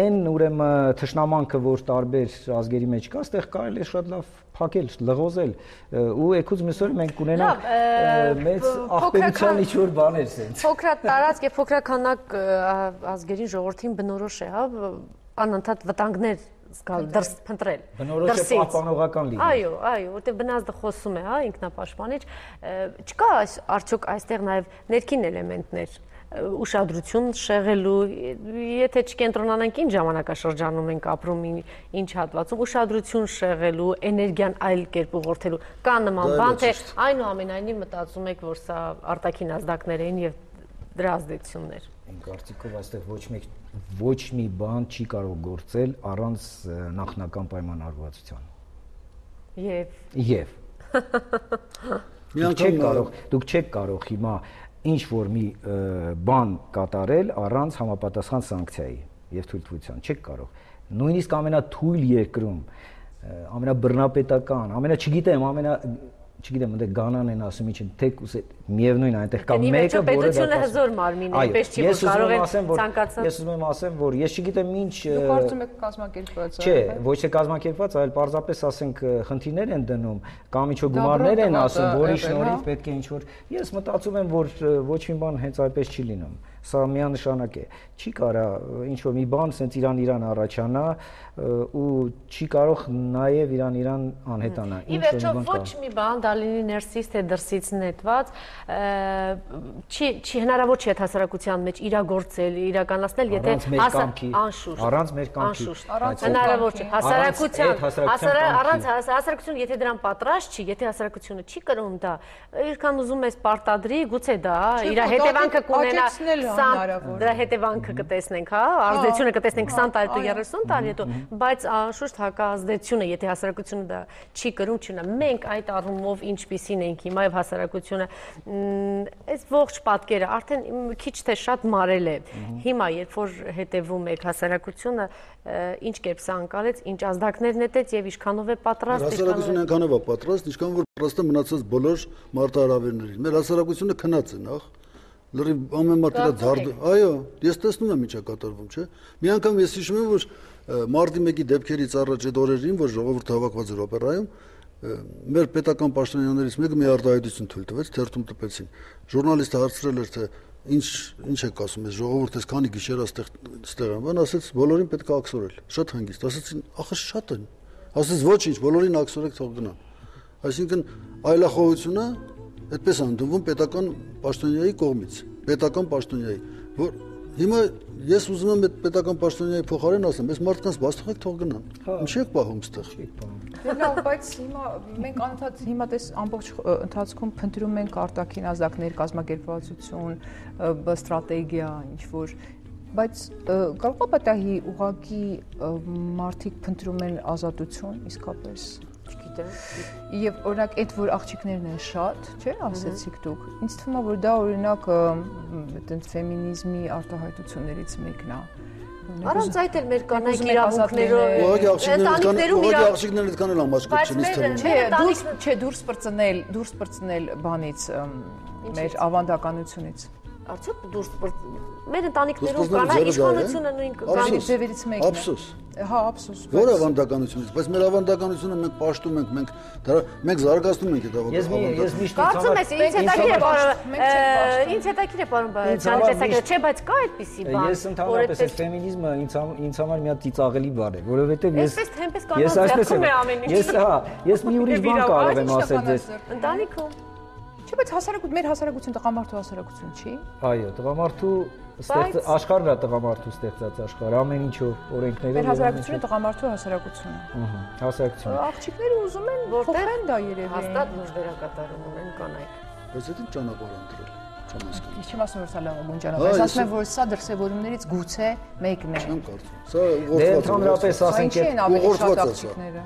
Այն ուրեմն թշնամանքը, որ տարբեր ազգերի մեջ կա, այստեղ կարելի է շատ լավ փակել, լղոզել ու եկուց միսօր մենք ունենանք մեծ ախպերության ինչ-որ բաներ sense։ Փոքրատ տարածք եւ փոքրականակ ազգերին ժողովրդին բնորոշ է, հա, անընդհատ վտանգներ զգալ, դրս փնտրել։ Բնորոշ է պահպանողական լինել։ Այո, այո, որտեղ բնազդը խոսում է, հա, ինքնապաշտպանիչ, չկա այս արդյոք այստեղ նաեւ ներքին էլեմենտներ ուշադրություն շեղելու, եթե չկենտրոնանանք ինչ ժամանակաշրջանում ենք ապրում, ինչ հատվածում, ուշադրություն շեղելու, էներգիան այլ կերպ ուղղորդելու, կա նման բան, թե այնուամենայնիվ մտածում եք, որ սա արտաքին ազդակներ են եւ դրա ազդեցություններ։ Իմ կարծիքով այստեղ ոչ մի ոչ մի բան չի կարող գործել առանց նախնական պայմանավորվածության։ Եվ Եվ Դուք չեք կարող, դուք չեք կարող հիմա ինչ որ մի բան կատարել առանց համապատասխան սանկցիայի եւ թույլտվության, չեք կարող։ նույնիսկ ամենաթույլ երկրում, ամենաբռնապետական, ամենա չգիտեմ, ամենա չգիտեմ, այնտեղ Գանան են ասում ինչ, թեկուս միևնույն այնտեղ կա մեկը, որը պետությունը հզոր մարմին է, այնպես չի որ կարող են ցանկացած։ Ես ուզում եմ ասեմ, որ ես չգիտեմ ինչ Դուք կարծում եք կազմակերպված է։ Չէ, ոչ թե կազմակերպված, այլ պարզապես ասենք խնդիրներ են դնում, կամ ինչ-որ գումարներ են ասում, որի շնորհիվ պետք է ինչ-որ ես մտածում եմ, որ ոչ մի բան հենց այդպես չի լինում։ Սա միանշանակ է։ Չի կարա ինչ-որ մի բան սենց Իրան-Իրան առաջանա ու չի կարող նաև Իրան-Իրան անհետանա։ Ի վերջո ոչ մի բան դա լինի ներսից թե դրսից նետված, չի չի հնարավոր չի այդ հասարակության մեջ իրագործել, իրականացնել, եթե անշուշտ առանց մեր կամքի հնարավոր չէ։ Հասարակության առանց հասարակությունը եթե դրան պատրաստ չի, եթե հասարակությունը չի կրում դա, ինչքան ուզում ես պարտադրի, գուցե դա իր հետևանքը կունենա դրա հետևանքը կտեսնենք, հա, ազդեցությունը կտեսնենք քսան տարի հետո երեսուն տարի հետո, բայց անշուշտ հակազդեցությունը, եթե հասարակությունը դա չի կրում, չունենա։ Մենք այդ առումով ինչպիսին ենք հիմա եւ հասարակությունը այս ողջ պատկերը արդեն քիչ թե շատ մարել է։ Հիմա երբ որ հետևում եք հասարակությունը, ինչ կերպ սա անցալեց, ինչ ազդակներ նետեց եւ ինչքանով է պատրաստ։ Հասարակությունը այնքանով է պատրաստ, ինչքան որ պատրաստ է մնացած բոլոր մարտահրավերներին։ Մեր հասարակությունը քնած է նախ լրիվ ամեն մարդ իր ձարդ, այո, ես տեսնում եմ ինչա կատարվում, չէ։ Մի անգամ ես հիշում եմ, որ մարտի մեկի դեպքերից առաջ այդ օրերին, որ ժողովուրդը հավաքված էր օպերայում, մեր պետական պաշտոնյաներից մեկը մի արտահայտություն թույլ տվեց, թերթում տպեցին։ Ժուրնալիստը հարցրել էր, թե ինչ ինչ եք ասում, այս ժողովուրդը այս քանի գիշեր այստեղ ստեղ են, բան ասեց, բոլորին պետք է աքսորել, շատ հանգիստ, ասեցին, ախր շատ են։ Ասեց ոչինչ, բոլորին աքսորեք, թող գնան։ Այսինքն այլախոհությունը այդպես անդունվում պետական պաշտոնյայի կողմից, պետական պաշտոնյայի, որ հիմա ես ուզում եմ այդ պետական պաշտոնյայի փոխարեն ասեմ, այս մարդկանց բաց թողեք թող գնան։ Ինչի՞ եք պահում այդտեղ։ Լավ, բայց հիմա մենք անընդհատ հիմա դες ամբողջ ընթացքում փնտրում ենք արտաքին ազդակներ, կազմակերպվածություն, ստրատեգիա, ինչ որ բայց կարող է պատահի ուղղակի մարդիկ փնտրում են ազատություն իսկապես Եվ օրինակ այդ որ աղջիկներն են շատ, չէ՞, ասեցիք դուք։ Ինձ թվում է որ դա օրինակ այդպես ֆեմինիզմի արտահայտություններից մեկն է։ Առանց այդ էլ մեր կանայք իրավունքներով ուղղակի աղջիկներն ուղղակի աղջիկներն այդքան էլ ամաչկոտ չեն ինձ թվում։ Չէ, դուրս չէ դուրս բրծնել, դուրս բրծնել բանից մեր ավանդականությունից։ Արդյոք դուրս մեր ընտանիքներում կանայք իշխանությունը նույն կանայք ձևերից մեկն է։ Ափսոս։ Հա, ափսոս։ Որ ավանդականությունից, բայց մեր ավանդականությունը մենք պաշտում ենք, մենք դրա մենք զարգացնում ենք այդ ավանդականությունը։ Ես միշտ կարծում ես ինձ հետաքրքիր է պարոն, ինձ հետաքրքիր է պարոն Բաղդասարյանի տեսակետը, չէ, բայց կա այդպիսի բան։ Ես ընդհանրապես այդ ֆեմինիզմը ինձ ինձ համար մի հատ ծիծաղելի բան է, որովհետև ես Այսպես թեմպես կանանց ձեռքում է ամեն ինչ։ Ես հա, ես մի ուրիշ բան կարող եմ ասել ձեզ։ Ընտանիքում Չէ, բայց հասարակություն, մեր հասարակություն տղամարդու հասարակություն չի։ Այո, տղամարդու ստեղծ աշխարհն է տղամարդու ստեղծած աշխարհ, ամեն ինչով օրենքներով։ Մեր հասարակությունը տղամարդու հասարակություն է։ Ահա, հասարակություն։ Աղջիկները ուզում են փոխեն դա երևի։ Հաստատ լուրջ դերակատարում ունեն կանայք։ Բայց դա ճանապարհ ընտրել։ Ես չեմ ասում որ սա լավ բան ճանապարհ, ես ասում եմ որ սա դրսևորումներից գուցե մեկն է։ Չեմ կարծում։ Սա դե ընդհանրապես ասենք ուղղորդված է։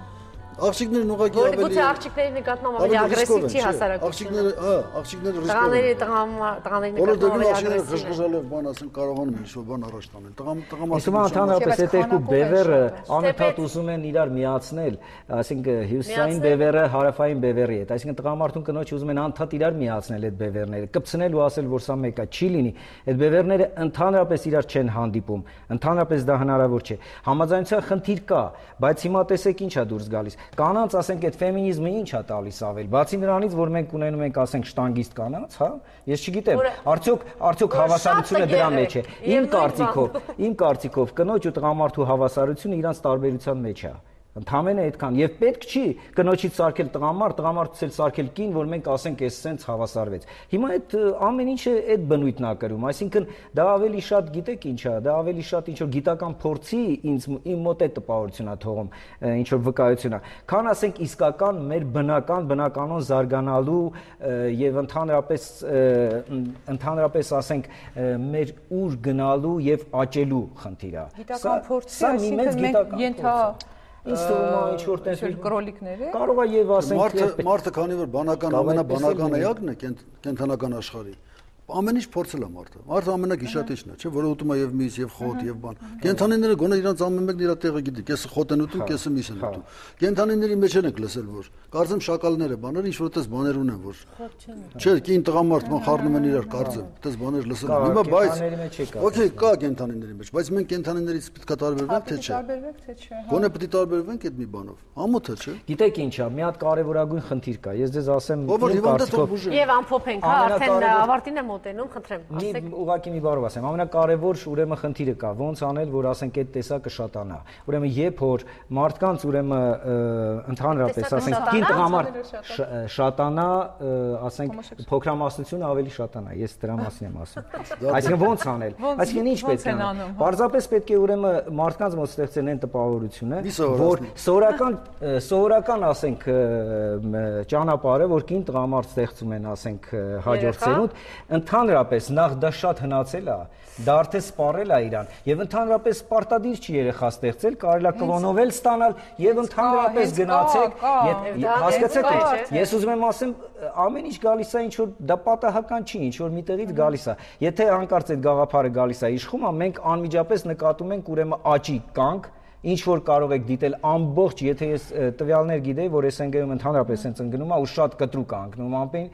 Աղջիկներն ուղղակի ավելի Գուցե աղջիկների նկատմամբ ավելի ագրեսիվ չի հասարակությունը։ Աղջիկները, հա, աղջիկները ռիսկով են։ Տղաների տղաների նկատմամբ ավելի ագրեսիվ։ Խժխժալով բան ասեն, կարողանում են ինչ-որ բան առաջ տանել։ Տղամարդիկ։ Իսկ ընդհանրապես այդ երկու բևերը անընդհատ ուզում են իրար միացնել, այսինքն հյուսիսային բևերը հարավային բևերի հետ, այսինքն տղամարդուն կնոջ ուզում են անընդհատ իրար միացնել այդ բևերները, կպցնել ու ասել որ սա մեկը չի լինի։ Այդ բևերները ընդհանրապես իրար չեն հանդիպում, ընդհանրապես դա հնարավոր չէ։ Համաձայնության խնդիր կա, բայց հիմա տեսեք ինչ է դուրս գալիս։ Կանանց ասենք այդ ֆեմինիզմը ինչ է տալիս ավել, բացի նրանից, որ մենք ունենում ենք ասենք շտանգիստ կանանց, հա, ես չգիտեմ, արդյոք արդյոք հավասարությունը դրա մեջ է։ Իմ կարծիքով, իմ կարծիքով կնոջ ու տղամարդու հավասարությունը իրանց տարբերության մեջ է։ Ընդհանրապես այդքան եւ պետք չի կնոջից սարքել տղամարդ, տղամարդից էլ սարքել կին, որ մենք ասենք էս սենց հավասարվեց։ Հիմա այդ ամեն ինչը այդ բնույթն է կրում, այսինքն դա ավելի շատ գիտեք ինչ է, դա ավելի շատ ինչ որ գիտական փորձի ինձ իմ մոտ է տպավորություն է թողում, ինչ որ վկայություն է, քան ասենք իսկական մեր բնական բնականon զարգանալու եւ ընդհանրապես ընդհանրապես ասենք մեր ուր գնալու եւ աճելու խնդիր է։ Գիտական փորձի, այսինքն մենք ենթա Ինչ թվում է ինչ որ տես կրոլիկներ է։ Կարող է եւ ասենք մարդը մարդը քանի որ բանական ամենաբանական էակն է կենթանական աշխարհի, ամեն ինչ փորձել է մարդը։ Մարդը ամենագիշատիչն է, չէ՞, որը ուտում է եւ միս, եւ խոտ, եւ բան։ Կենթանիները գոնե իրանց ամեն մեկն իր տեղը գիտի, կեսը խոտ են ուտում, կեսը միս են ուտում։ Կենթանիների մեջ են լսել, որ կարծեմ շակալները բաները ինչ որ այդպես բաներ ունեն, որ չէ, կին տղամարդ ման խառնում են իրար, կարծեմ, այդպես բաներ լսել են։ Հիմա բայց օքեյ, կա կենթանիների մեջ, բայց մենք կենթանիներից պետք է տարբերվենք, թե չէ։ Տարբերվենք, թե չէ։ Գոնե պետք է տարբերվենք այդ մի բանով։ Ամոթ է, չէ։ Գիտեք ինչ է, մի հատ կարևորագույն խնդիր կա։ Ես ձեզ ասեմ, եւ ամփոփենք, հա, արդեն ավարտին է մոտենում, խնդրեմ, ասեք։ Ուղղակի մի բառով ասեմ, ամենակարևոր ուրեմն խնդիրը կա, ոնց անել, որ ասենք այդ տեսակը շատանա։ Ուրեմն երբ որ մարդկանց ուրեմն ընդհանրապես ասենք կին տղամարդ շատանա, ասենք փոքրամասնությունը ավելի շատանա, ես դրա մասին եմ ասում։ Այսինքն ոնց անել։ Այսինքն ինչ պետք է անել։ Պարզապես պետք է ուրեմն մարդկանց մոտ ստեղծեն այն տպավորությունը, որ սովորական սովորական ասենք ճանապարհը, որ կին տղամարդ ստեղծում են, ասենք հաջորդ ծերունդ, ընդհանրապես նախ դա շատ հնացել է, դա արդեն սպառել է իրան, եւ ընդհանրապես պարտադիր չի երեխա ստեղծել, կարելի է կլոնովել ստանալ եւ ընդհանրապես գնացեք, հասկացեք, ես ուզում եմ ասեմ, ամեն ինչ գալիս է ինչ որ դա պատահական չի, ինչ որ միտեղից գալիս է։ Եթե հանկարծ այդ գաղափարը գալիս է իշխում, մենք անմիջապես նկատում ենք ուրեմն աճի կանք, ինչ որ կարող եք դիտել ամբողջ, եթե ես տվյալներ գիտեի, որ էս ընկերում ընդհանրապես sense ընկնում է ու շատ կտրուկ է ընկնում ամեն,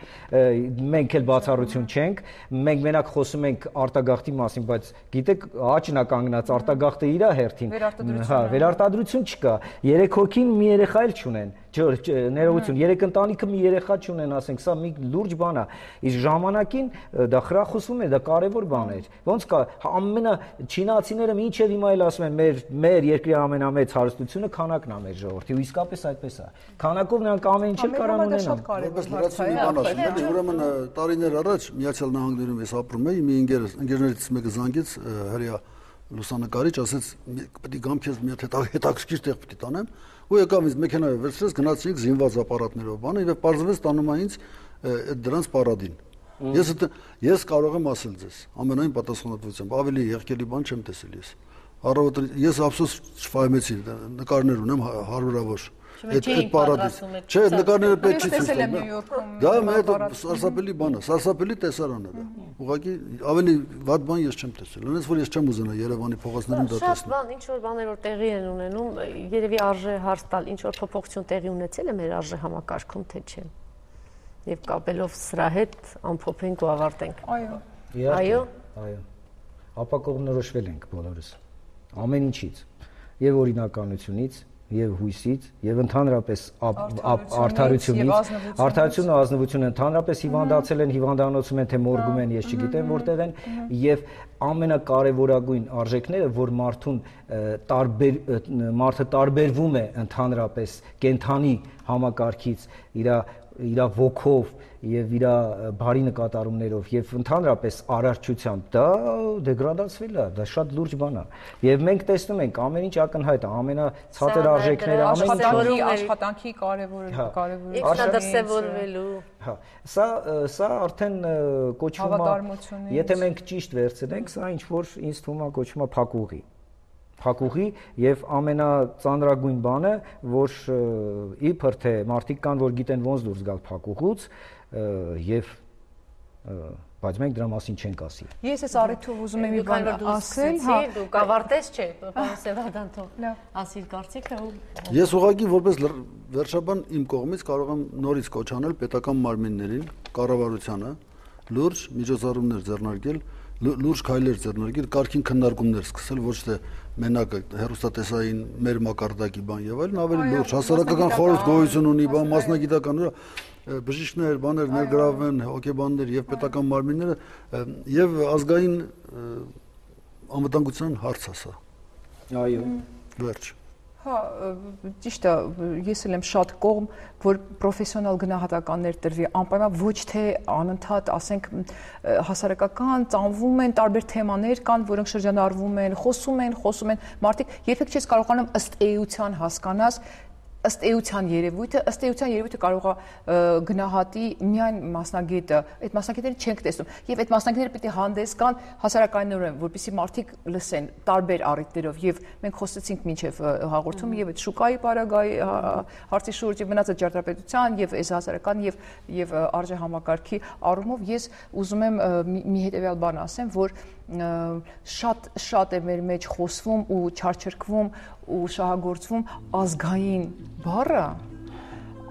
մենք էլ բացառություն չենք, մենք մենակ խոսում ենք արտագաղթի մասին, բայց գիտեք, աճն է կանգնած, արտագաղթը իր հերթին, հա, վերարտադրություն չկա, երեք հոգին մի երեխա էլ չունեն, ներողություն, երեք ընտանիքը մի երեխա չունեն, ասենք, սա մի լուրջ բան է, իսկ ժամանակին դա խրախուսվում է, դա կարևոր բան է, ոնց կա, ամենա չինացիները մինչև հիմա էլ ասում են, մեր մեր երկրի ամենամեծ հարստությունը քանակն է մեր ժողովրդի, ու իսկապես այդպես է, քանակով նրանք ամեն ինչ էլ կարող ունենան, որպես լրացում մի բան ասում եմ, ուրեմն տարիներ առաջ Միացյալ Նահանգներում ես ապրում էի, մի ընկեր ընկերներից մեկը զանգեց հրեա լուսանկարիչ, ասեց պետք է գամ քեզ մի հատ հետաքրքիր տեղ պետք է տանեմ, ու եկավ ինձ մեքենայով վերցրեց, գնացինք զինված ապարատներով բանը, եւ պարզվեց տանում է ինձ դրանց պարադին։ Ես ես կարող եմ ասել ձեզ, ամենայն պատասխանատվությամբ, ավելի եղքելի բան չեմ տեսել ես։ Առավոտ ես ափսոս չֆայմեցի, նկարներ ունեմ հարյուրավոր։ Այդ այդ պարադից։ Չէ, նկարները պետք չի տեսնել։ Դա մեր սարսափելի բան է, սարսափելի տեսարան է դա։ Ուղղակի ավելի վատ բան ես չեմ տեսել։ Ունես որ ես չեմ ուզենա Երևանի փողոցներում դա տեսնել։ Շատ բան, ինչ որ բաներ որ տեղի են ունենում, երևի արժե հարց տալ, ինչ որ փոփոխություն տեղի ունեցել է մեր արժե համակարգում, թե չէ։ Եվ կապելով սրա հետ ամփոփենք ու ավարտենք։ Այո։ Այո։ Այո։ Ապա կողմնորոշվել ենք բոլորս։ Ամեն ինչից, եւ օրինականությունից, եւ հույսից, եւ ընդհանրապես արդարությունից, արդարությունը ու ազնվությունը ընդհանրապես հիվանդացել են, հիվանդանոցում են, թե մորգում են, ես չգիտեմ որտեղ են, եւ ամենակարևորագույն արժեքները, որ մարդուն տարբեր մարդը տարբերվում է ընդհանրապես կենթանի համակարգից, իր իր ոգով եւ իր բարի նկատառումներով եւ ընդհանրապես արարչությամբ դա դեգրադացվել է, դա շատ լուրջ բան է եւ մենք տեսնում ենք ամեն ինչ ակնհայտ է, ամենացածր արժեքները, ամեն ինչ աշխատանքի կարևորը կարևորը ինքնադրսևորվելու, հա, սա սա արդեն կոչվում է, եթե մենք ճիշտ վերցնենք, սա ինչ որ ինձ թվում է կոչվում է փակուղի փակուղի եւ ամենածանրագույն բանը, որ իբր թե մարդիկ կան, որ գիտեն ոնց դուրս գալ փակուղուց եւ բայց մենք դրա մասին չենք ասի։ Ես այս առիթով ուզում եմ մի բան ասել, հա, դու կավարտես, չէ, պարոն Սևադան, թող ասիր կարծիքը ու Ես ուղղակի որպես վերջաբան իմ կողմից կարող եմ նորից կոչ անել պետական մարմիններին, կառավարությանը լուրջ միջոցառումներ ձեռնարկել, լուրջ քայլեր ձեռնարկել, կարգին քննարկումներ սկսել, ոչ թե մենակ հերոստատեսային մեր մակարդակի բան եւ այլն, ավելի լուրջ հասարակական խորհուրդ գոյություն ունի, բան մասնագիտական բժիշկներ, բաներ ներգրավեն, հոգեբաններ եւ պետական մարմինները եւ ազգային անվտանգության հարց է սա։ Այո։ Վերջ։ Հա, ճիշտ է, ես էլ եմ շատ կողմ, որ պրոֆեսիոնալ գնահատականներ տրվի, անպայման ոչ թե անընդհատ, ասենք, հասարակական ծանվում են տարբեր թեմաներ կան, որոնք շրջանառվում են, խոսում են, խոսում են, մարդիկ երբեք չես կարողանում ըստ էության հասկանաս ըստ էության երևույթը, ըստ էության երևույթը կարող է գնահատի միայն մասնագետը, այդ մասնագետները չենք տեսնում, եւ այդ մասնագետները պիտի հանդես գան հասարակայնորեն, որպեսզի մարդիկ լսեն տարբեր առիթներով, եւ մենք խոսեցինք մինչեւ հաղորդումը եւ այդ շուկայի պարագայի հարցի շուրջ եւ մնացած ճարտարապետության եւ այս հասարակական եւ եւ արժեհամակարգի առումով ես ուզում եմ մի հետեւյալ բան ասեմ, որ շատ շատ է մեր մեջ խոսվում ու չարչրկվում ու շահագործվում ազգային բառը,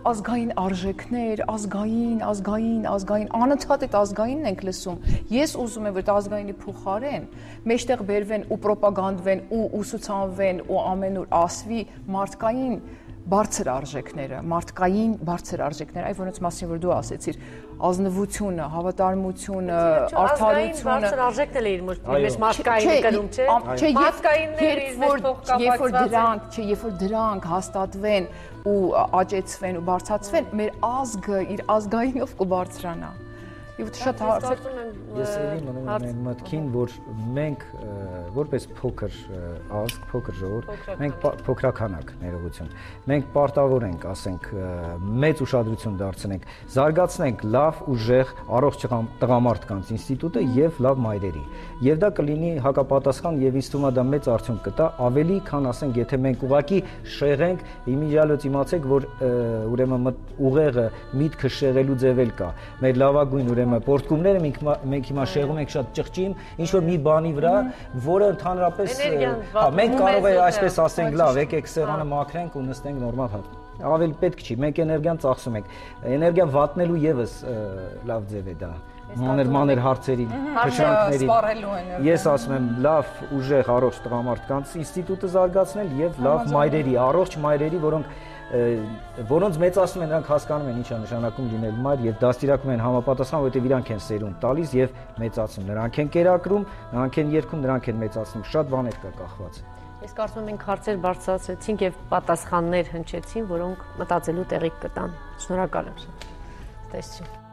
ազգային արժեքներ, ազգային, ազգային, ազգային, անընդհատ այդ ազգայինն ենք լսում։ Ես ուզում եմ, որ այդ ազգայինի փոխարեն մեջտեղ բերվեն ու պրոպագանդվեն ու ուսուցանվեն ու ամենուր ասվի մարդկային բարձր արժեքները, մարդկային բարձր արժեքները, այ որոնց մասին որ դու ասեցիր, ազնվությունը, հավատարմությունը, արդարությունը, բարձր արժեքն էլ իր մեջ մարդկայինը կրում, չէ՞։ Մարդկայինները երբ որ դրանք, չէ, երբ որ դրանք հաստատվեն ու աճեցվեն ու բարձրացվեն, մեր ազգը իր ազգայինով կբարձրանա։ Եվ շատ հարցեր ես էլի մնում եմ մտքին, որ մենք որպես փոքր ազգ, փոքր ժողովուրդ, մենք փոքրականակ ներողություն, մենք պարտավոր ենք, ասենք, մեծ ուշադրություն դարձնենք, զարգացնենք լավ ուժեղ առողջ տղամարդկանց ինստիտուտը եւ լավ մայրերի։ Եվ դա կլինի հակապատասխան եւ ինձ թվում է դա մեծ արդյունք կտա, ավելի քան ասենք, եթե մենք ուղակի շեղենք, իմիջիալոց իմացեք, որ ուրեմն ուղեղը միտքը շեղելու ձևել կա։ Մեր լավագույն ուրեմն պորտկումները մենք հիմա շեղում ենք շատ ճղճին, ինչ որ մի բանի վրա, որը ընդհանրապես մենք կարող է այսպես ասենք, լավ, եկեք սեղանը մաքրենք ու նստենք նորմալ հատ։ Ավելի պետք չի, մենք էներգիան ծախսում ենք։ Էներգիան վատնելու եւս լավ ձև է դա։ Մանր մանր հարցերի, փշրանքների։ Ես ասում եմ, լավ ուժեղ առողջ տղամարդկանց ինստիտուտը զարգացնել եւ լավ մայրերի, առողջ մայրերի, որոնք որոնց մեծացնում են, նրանք հասկանում են ինչա նշանակում լինել մայր եւ դաստիարակում են համապատասխան, որովհետեւ իրանք են սերունդ տալիս եւ մեծացնում։ Նրանք են կերակրում, նրանք են երգում, նրանք են մեծացնում։ Շատ բաներ կա կախված։ Ես կարծում եմ մենք հարցեր բարձրացրեցինք եւ պատասխաններ հնչեցին, որոնք մտածելու տեղիք կտան։ Շնորհակալ եմ։ Տեսություն։